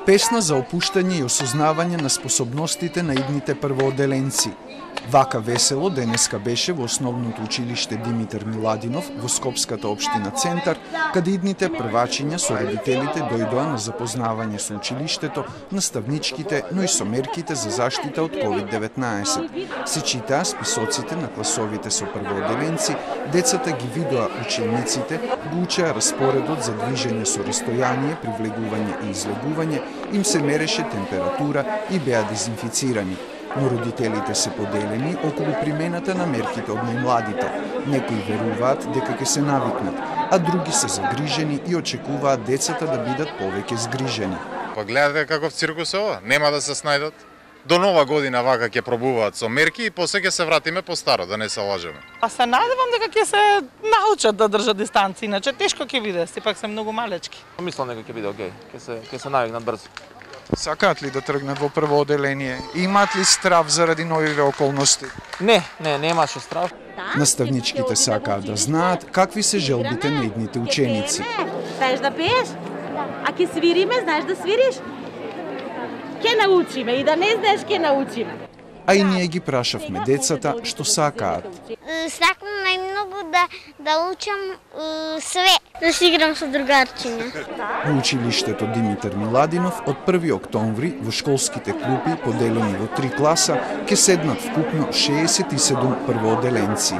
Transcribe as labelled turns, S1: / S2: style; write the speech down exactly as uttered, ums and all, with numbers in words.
S1: Песна за опуштање и осознавање на способностите на идните првооделенци. Вака весело денеска беше во основното училиште Димитар Миладинов во Скопската општина Центар, каде идните првачиња со родителите дојдоа на запознавање со училиштето, наставничките, но и со мерките за заштита од ковид деветнаесет. Се читаа списоците на класовите со првооделенци, децата ги видоа учениците, го учеа распоредот за движење со растојание, привлегување и излегување, им се мереше температура и беа дезинфицирани. Но родителите се поделени околу примената на мерките од најмладите. Некои веруваат дека ќе се навикнат, а други се загрижени и очекуваат децата да бидат повеќе згрижени.
S2: Па гледате каков циркус е ова, нема да се снајдат. До нова година вака ќе пробуваат со мерки и после ќе се вратиме по старо, да не се лажеме.
S3: Па се надевам дека ќе се научат да држат дистанци, иначе тешко ќе биде, сепак се многу малечки.
S4: Мислам дека ќе биде окей, ќе се ќе се навикнат брзо.
S1: Сакаат ли да тргнат во првооделение? Имаат ли страв заради новиве околности?
S4: Не, не, немаше страв.
S1: Наставничките сакаат да знаат какви се желбите на идните ученици.
S5: Знаеш да пееш? А ќе свириме, знаеш да свириш? Ке научиме и да не знаеш ке научиме.
S1: А и ние ги прашавме децата што сакаат.
S6: Сакам најмногу да да учам све, да се играм со другарчиња.
S1: Во училиштето Димитар Миладинов од први октомври во школските клупи поделени во три класа ќе седнат вкупно шеесет и седум првооделенци.